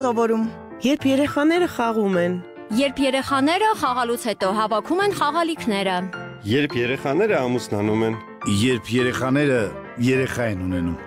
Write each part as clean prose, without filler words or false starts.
Սովորում։ Երբ երեխաները խաղում են։ Երբ երեխաները խաղալուց հետո հավաքում են խաղալիքները։ Երբ երեխաները ամուսնանում են։ Երբ երեխաները երեխա են ունենում։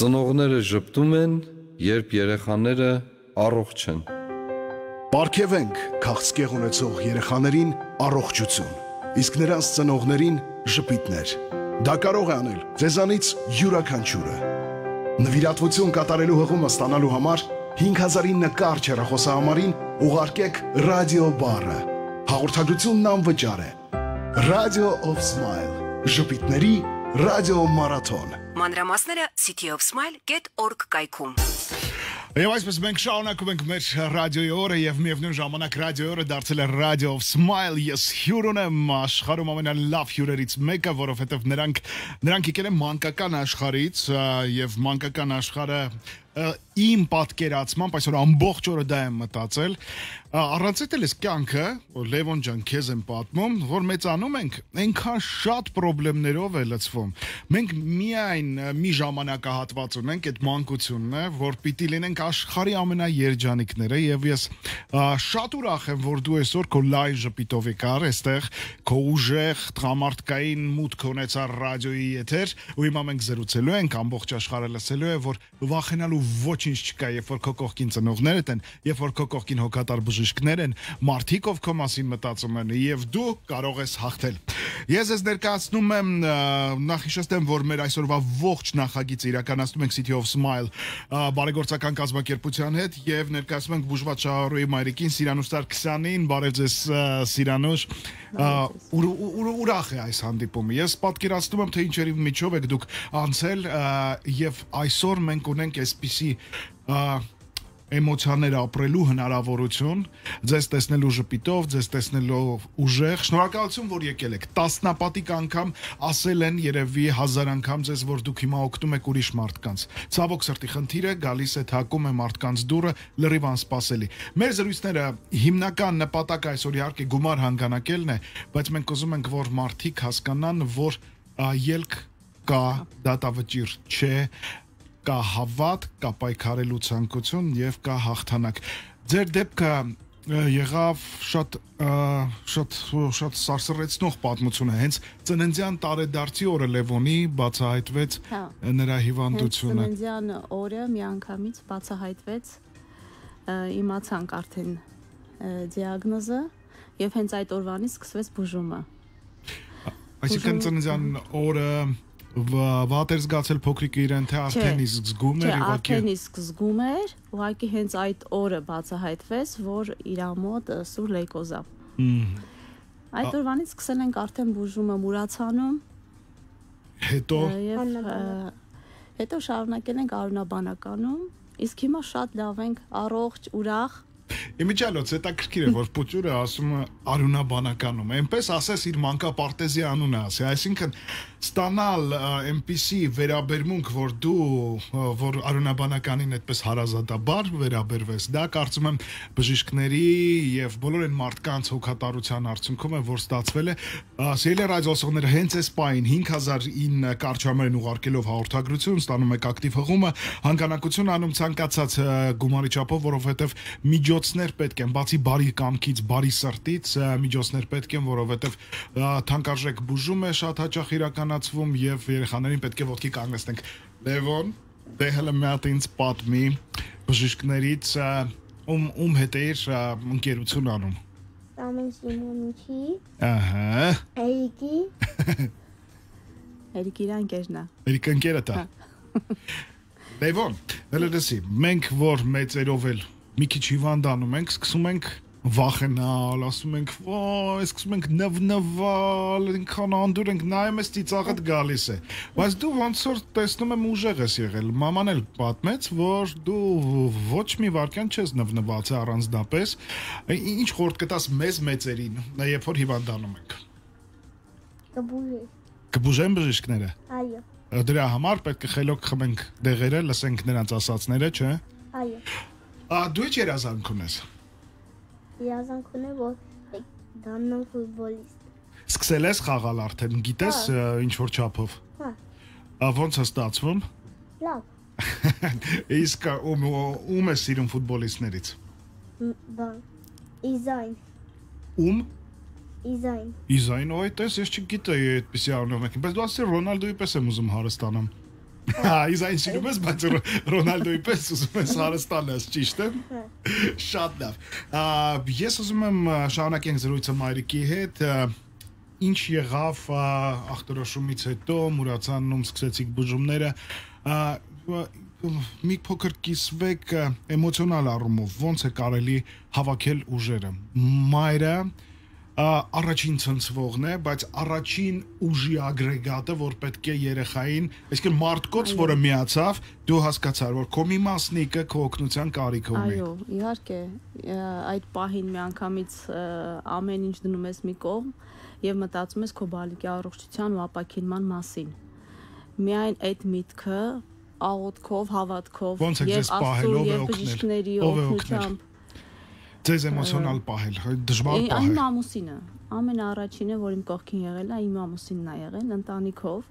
Ծնողները ժպտում են, երբ երեխաները առողջ են։ Պարգևենք քաղցկեղ ունեցող երեխաներին առողջություն, իսկ նրանց ծնողներին ժպիտներ։ Դա կարող է անել ձեզանից յուրաքանչյուրը։ Նվիրատվություն կատարելու հղումը ստանալու համար 5009 կարճ հեռախոսահամարին ուղարկեք ռադիո բառը։ Հաղորդագրությունն անվճար է։ Radio of Smile։ Ժպիտների ռադիո մարաթոն։ Մանրամասները cityofsmile.org կայքում։ Եվ այսպես մենք շարունակում ենք մեր ռադիոյի օրը եւ միևնույն ժամանակ ռադիոյի օրը դարձել է Radio of Smile։ Ես հյուրն եմ աշխարհում ամենալավ հյուրերից մեկը, որովհետեւ նրանք եկել են մանկական աշխարհից եւ մանկական աշխարհը իմ պատկերացմամբ այսօր ամբողջ օրը դա եմ մտածել առանց էլ էս կյանքը Լևոն ջան քեզ եմ պատմում որ մեծանում ենք այնքան շատ խնդիրներով է լցվում մենք միայն մի ժամանակահատված ունենք այդ մանկությունն է որ պիտի լինենք աշխարհի ամենաերջանիկները եւ ես շատ ուրախ եմ որ դու այսօր քո լայն ժպիտով եկար այստեղ քո ուժեղ տղամարդկային մուտք ունեցար ռադիոյի եթեր ու հիմա մենք զրուցելու ենք ամբողջ աշխարհը լսելու է որ վախենալու ոչինչ չկա, երբ որ քո կողքին ծնողներդ են, երբ որ քո կողքին հոգատար բժիշկներ են, մարդիկ ով քո մասին մտածում են, եւ դու կարող ես հաղթել։ Ես ես ներկայացնում եմ նախիշեստեմ, որ մեր այսօրվա ողջ նախագիծը իրականացնում ենք City of Smile բարեգործական կազմակերպության հետ եւ ներկայացնում ենք Բուժված Շահարոյի մայրիկին Սիրանուշ Սարգսյանին, բարև ձեզ Սիրանուշ։ Ուրախ է այս հանդիպումը։ Ես պատկերացնում եմ թե ինչերի միջով եք դուք անցել եւ այսօր մենք ունենք այսպիսի էմոցիաներ ապրելու հնարավորություն, ձեզ տեսնելու ժպիտով, ձեզ տեսնելով ուժեղ, շնորհակալություն, որ եկել եք։ Տասնապատիկ անգամ ասել են երևի 1000 անգամ ձեզ, որ դուք հիմա օգնում եք ուրիշ մարդկանց։ Ցավոք սրտի խնդիրը գալիս է թակում է մարդկանց դուռը լրիվ անսպասելի։ Մեր զրույցները հիմնական նպատակը այսօր իհարկե գումար հանգանակելն է, բայց մենք ուզում ենք, որ մարդիկ հասկանան, որ ելք կա, դատավճիռ չէ, կա հավատ, կա պայքարելու ցանկություն եւ կա հաղթանակ։ Ձեր դեպքը եղավ շատ սարսռեցնող պատմություն է, հենց ծննդյան տարեդարձի օրը Լևոնի բացահայտվեց նրա հիվանդությունը։ Ծննդյան օրը միանգամից բացահայտվեց, իմացանք արդեն դիագնոզը եւ հենց այդ օրվանից սկսվեց բուժումը։ Այսինքն ծննդյան օրը վատ էր զգացել փոքրիկը իրեն թե արդեն իսկ զգում էր ուղղակի արդեն իսկ զգում էր ուղղակի հենց այդ օրը բացահայտվեց որ իր մոտ սուր լեյկոզա այդ օրվանից սկսել ենք արդեն բուժումը Մուրացանում հետո շարունակել ենք Արունաբանականում իսկ հիմա շատ լավ ենք առողջ ուրախ Իմիջիալոց հետաքրքիր է որ Պուտյուրը ասում է Արունաբանականում այնպես ասես իր մանկապարտեզի անունը ասի այսինքն ստանալ այնպիսի վերաբերմունք որ դու որ Արունաբանականին այդպես հարազատաբար վերաբերվես դա կարծում եմ բժիշկների եւ բոլոր այն մարդկանց հոգատարության արդյունքում է որ ստացվել է սիրելի ռադիոսողները հենց այս պահին 5009 կարճամերն ուղարկելով հաղորդագրություն ստանում եք ակտիվ հղումը հանգանակություն անում ցանկացած գումարի չափով որովհետեւ միջոցներ պետք են բացի բարի կամքից բարի սրտից միջոցներ պետք են որովհետեւ թանկարժեք բուժում է շատ հաճախ իրականացվում եւ երեխաներին պետք է ոտքի կանգնեցնենք Լևոն դե հələ մի հատ ինձ պատմի բժիշկներից ում հետ է ընկերություն անում Ամեն Սիմոնիչի ահա Էրիկի իր ընկերն է Էրիկը ընկերդ է Լևոն հələ դասի մենք որ մեծերով էլ մի քիչ հիվանդանում ենք սկսում ենք վախենալ ասում ենք ոյ սկսում ենք նվնվալ ինքան անդուր ենք նայում ես ծիծաղդ գալիս է բայց դու ոնց որ տեսնում եմ ուժեղ ես եղել մաման էլ պատմեց որ դու ոչ մի վարքյան չես նվնված առանձնապես ինչ խորտ կտաս մեզ մեծերին երբ որ հիվանդանում ենք կբուժեն բժիշկները այո դրա համար պետք է խելոք խմենք դեղերը լսենք նրանց ասածները չէ այո դու ի՞նչ երազանք ունես Երազանք ունեմ որ դառնամ ֆուտբոլիստ Սկսել ես խաղալ արդեն գիտես ինչ որ չափով Հա Ոնց է ստացվում Լավ Իսկ ում է սիրում ֆուտբոլիստներից։ Բան։ Իզայն։ Ում։ Իզայն։ Իզայն, այդպես ես չգիտեի այդպեսի անունով եք։ Բայց դու ասի Ռոնալդոյի պես եմ ուզում հարստանամ։ Իզայն սիրում ես, բայց Ռոնալդոյի պես ուզում ես հարստանաս, ճիշտ է։ Շատ լավ։ Ես ուզում եմ շարունակենք զրույցը Մայրիկի հետ։ Ինչ եղավ ախտորոշումից հետո, մուրացանում սկսեցիք բուժումները, մի փոքր կիսվեք էմոցիոնալ առումով, ոնց է կարելի հավաքել ուժերը։ Մայրը առաջին ցնցվողն է, բայց առաջին ուժի ագրեգատը, որ պետք է երեխային, այսինքն մարդկոց, որը միացավ, դու հասկացար, որ քո մի մասնիկը քո օգնության կարիք ունի։ Այո, իհարկե, այդ պահին միանգամից ամեն ինչ դնում ես մի կողմ եւ մտածում ես քո բալիկի առողջության ու ապակինման մասին։ Միայն այդ միտքը աղոթքով, հավատքով եւ Աստծո եւ բժիշկների օգնությամբ Ձեզ էմոցիոնալ պահել, դժվար պահել։ Իմ ամուսինը, ամենաառաջինը, որ իմ կողքին եղել է, իմ ամուսինն է եղել, ընտանիքով,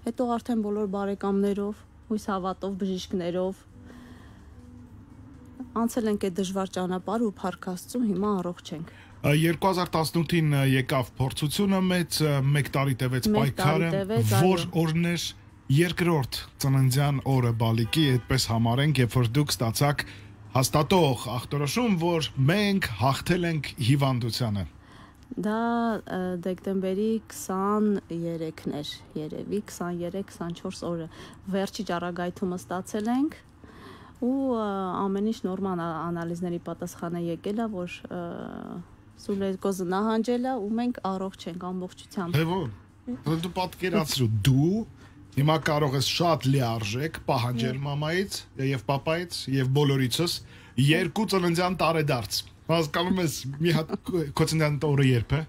հետո արդեն բոլոր բարեկամներով, հույս հավատով, բժիշկներով անցել ենք այդ դժվար ճանապարհը ու փառք Աստծո, հիմա առողջ ենք։ 2018-ին եկավ փորձությունը մեծ, 1 տարի տևեց պայքարը, որ օրն էր երկրորդ ծննդյան օրը բալիկի, այդպես համարենք, երբ որ դուք ստացաք հաստատող ախտորոշում, որ մենք հաղթել ենք հիվանդությանը։ Դա դեկտեմբերի 23-ն էր, երևի 23-24 օրը վերջի ճառագայթումը ստացել ենք ու ամեն ինչ նորմալ անալիզների պատասխանը եկել է, որ սուլեկոզը նահանջել է ու մենք առողջ ենք ամբողջությամբ։ Թե որ դու պատկերացրու, դու հիմա կարող ես շատ լիարժեք պահանջել մամայից եւ պապայից եւ բոլորիցս 2 ծննդյան տարեդարձ։ Հասկանում ես, մի հատ քո ծննդյան օրը երբ է։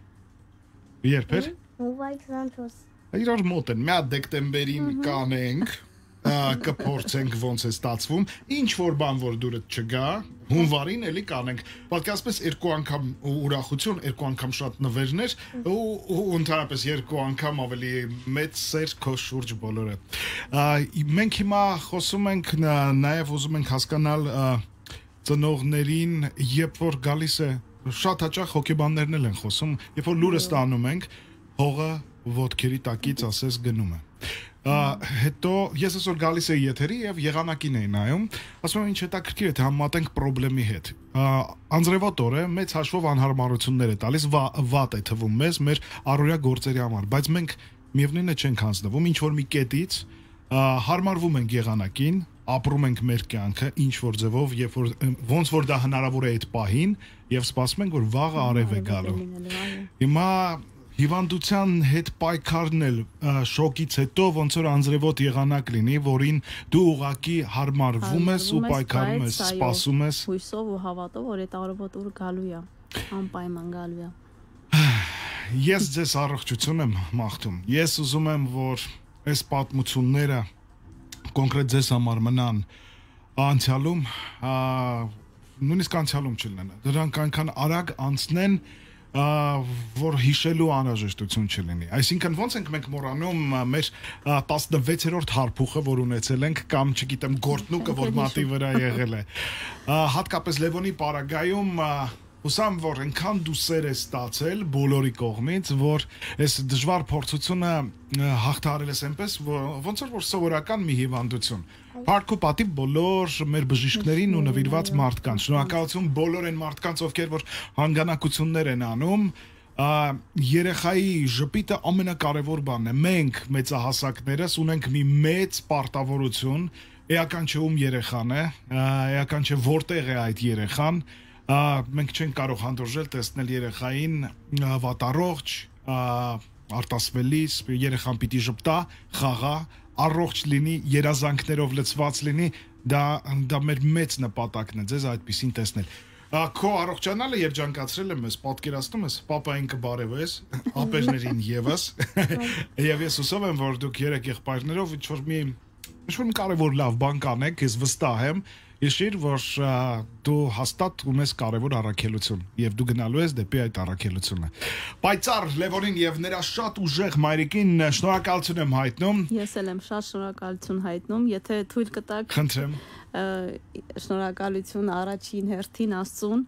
Երբ է։ Հունվարի 24։ Իրար մոտ են, մի հատ դեկտեմբերին կանենք, կփորձենք ոնց է ստացվում, ինչ որ բան որ դուրդ չգա, հունվարին էլի կանենք։ Պատկերացնես 2 անգամ ուրախություն, 2 անգամ շատ նվերներ ու ընդհանրապես 2 անգամ ավելի մեծ սեր քո շուրջ բոլորը։ Մենք հիմա խոսում ենք նաև ուզում ենք հասկանալ ծնողներին, երբ որ գալիս է շատ հաճախ հոգեբաններն են խոսում, երբ որ լուրը ստանում ենք, հողը ոտքերի տակից ասես գնում է։ Հետո ես այսօր գալիս էի եթերի եւ եղանակին էի նայում, ասում եմ ինչ հետաքրքիր է թե համատենք խնդրի հետ։ Անձրևոտ օրը մեծ հաշվով անհարմարություններ է տալիս, վատ է թվում մեզ մեր առօրյա գործերի համար, բայց մենք միևնույնն է չենք հանձնվում, ինչ որ մի կետից հարմարվում ենք եղանակին, ապրում ենք մեր կյանքը ինչ որ ձևով, երբ որ ոնց որ դա հնարավոր է այդ պահին եւ սպասում ենք որ վաղը արև է գալու։ Հիմա հիվանդության հետ պայքարն էլ շոկից հետո ոնց որ անձրևոտ եղանակ լինի, որին դու ուղակի հարմարվում ես ու պայքարում ես, սպասում ես։ Հույսով ու հավատով, որ այդ արևոտ ուր գալու է, անպայման գալու է։ Ես ձեզ առողջություն եմ մաղթում։ Ես ուզում եմ, որ այս պատմությունները կոնկրետ ձեզ համար մնան անցյալում, նույնիսկ անցյալում չլինեն։ Դրանք այնքան արագ անցնեն, որ հիշելու անհրաժեշտություն չլինի։ Այսինքն ոնց ենք մենք մոռանում մեր 16-րդ հարփուխը, որ ունեցել ենք, կամ չգիտեմ գործնուկը, որ մատի վրա եղել է։ Հատկապես Լևոնի պարագայում հուսամ, որ այնքան դու սեր ես ստացել բոլորի կողմից, որ այս դժվար փորձությունը հաղթահարել ես այնպես, ոնց որ սովորական մի հիվանդություն։ Փառք ու պատիվ բոլոր մեր բժիշկներին ու նվիրված մարդկանց։ Շնորհակալություն բոլոր այն մարդկանց, ովքեր որ հանգանակություններ են անում։ Երեխայի ժպիտը ամենակարևոր բանն է։ Մենք մեծահասակներս ունենք մի մեծ պարտավորություն, էական չէ ում երեխան է, էական չէ որտեղ է այդ երեխան։ Մենք չենք կարող հանդուրժել տեսնել երեխային վատառողջ, արտասվելիս, երեխան պիտի ժպտա, խաղա, առողջ լինի, երազանքներով լցված լինի, դա մեր մեծ նպատակն է ձեզ այդպեսին տեսնել։ Քո առողջանալը երջանկացրել եմ ես, պատկերացնում ես, պապային կբարևես, ապերներին եւս, եւ ես հուսով եմ, որ դուք երեք եղբայրներով ինչ որ մի կարևոր լավ բան կանեք, ես վստահ եմ, Հիշիր, որ դու հաստատ ունես կարևոր առաքելություն եւ դու գնալու ես դեպի այդ առաքելությունը։ Պայծառ Լևոնին եւ նրա շատ ուժեղ մայրիկին շնորհակալություն եմ հայտնում։ Ես էլ եմ շատ շնորհակալություն հայտնում, եթե թույլ կտաք։ Խնդրեմ։ Շնորհակալություն առաջին հերթին Աստծուն,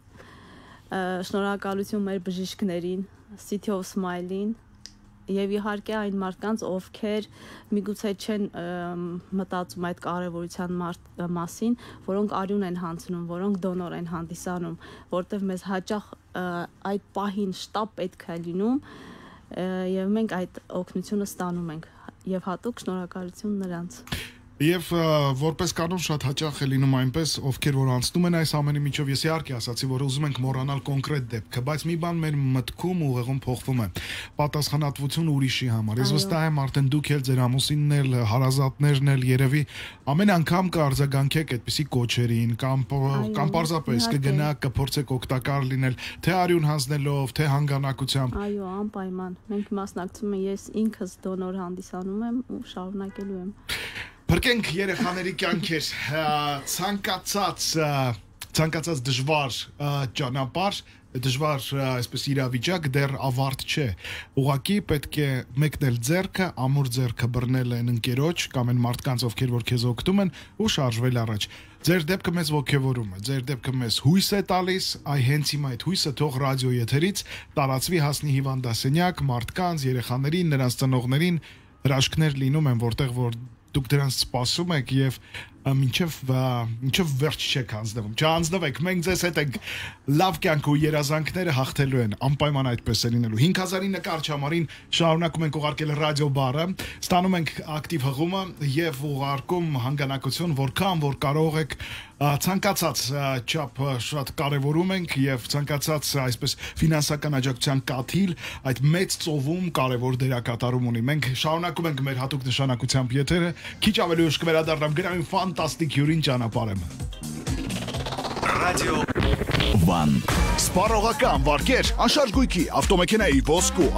շնորհակալություն մեր բժիշկներին, City of Smile-ին եւ իհարկե այն մարդկանց, ովքեր միգուցե չեն մտածում այդ կարեւորության մասին, որոնք արյուն են հանձնում, որոնք դոնոր են հանդիսանում, որտեղ մեզ հաճախ այդ պահին շտապ պետք է լինում եւ մենք այդ օգնությունը ստանում ենք եւ հատուկ շնորհակալություն նրանց։ Եվ որպես կանոն շատ հաճախ է լինում այնպես, ովքեր որ անցնում են այս ամենի միջով, ես իհարկե ասացի, որ ուզում ենք մոռանալ կոնկրետ դեպքը, բայց մի բան մեր մտքում ուղեղում փոխվում է։ Պատասխանատվություն ուրիշի համար։ Ես վստահ եմ, արդեն դուք էլ ձեր ամուսինն էլ, հարազատներն էլ երևի ամեն անգամ կարձագանքեք այդպիսի կոչերին կամ պարզապես կգնաք, կփորձեք օգտակար լինել, թե արյուն հանձնելով, թե հանգանակությամբ։ Այո, անպայման։ Մենք մասնակցում ենք, ես ինքս դոնոր հանդիսանում եմ ու շարունակելու եմ։ Փրկենք երեխաների կյանքեր, ցանկացած դժվար ճանապարհ, դժվար այսպես իրավիճակ դեռ ավարտ չէ։ Ուղղակի պետք է մեկնել ձեռքը, ամուր ձեռքը բռնել են ընկերոջ կամ են մարդկանց, ովքեր որ քեզ օգնում են ու շարժվել առաջ։ Ձեր դեպքը մեզ ողջևորում է, ձեր դեպքը մեզ հույս է տալիս, այ հենց հիմա այդ հույսը թող ռադիո եթերից տարածվի, հասնի հիվանդասենյակ, մարդկանց, երեխաներին, նրանց ծնողներին, հրաշքներ լինում են, որտեղ որ դուք դրանց սպասում եք եւ մինչև վերջ չեք հանձնվում։ Չհանձնվեք, մենք ձեզ հետ ենք լավ կյանք ու երազանքները հաղթելու են, անպայման այդպես է լինելու։ 5000-ի նկարչ համարին շարունակում ենք ուղարկել ռադիո բարը, ստանում ենք ակտիվ հղումը եւ ուղարկում հանգանակություն, որքան որ կարող եք, ցանկացած չափ շատ կարևորում ենք եւ ցանկացած այսպես ֆինանսական աջակցության կաթիլ այդ մեծ ծովում կարևոր դերակատարում ունի։ Մենք շարունակում ենք մեր հատուկ նշանակությամբ եթերը, քիչ ավելի ուշ կվերադառնամ գրային ֆանտաստիկ հյուրին ճանապարհեմ։ Ռադիո Վան։ Սպառողական վարկեր, անշարժ գույքի, ավտոմեքենայի ոսկու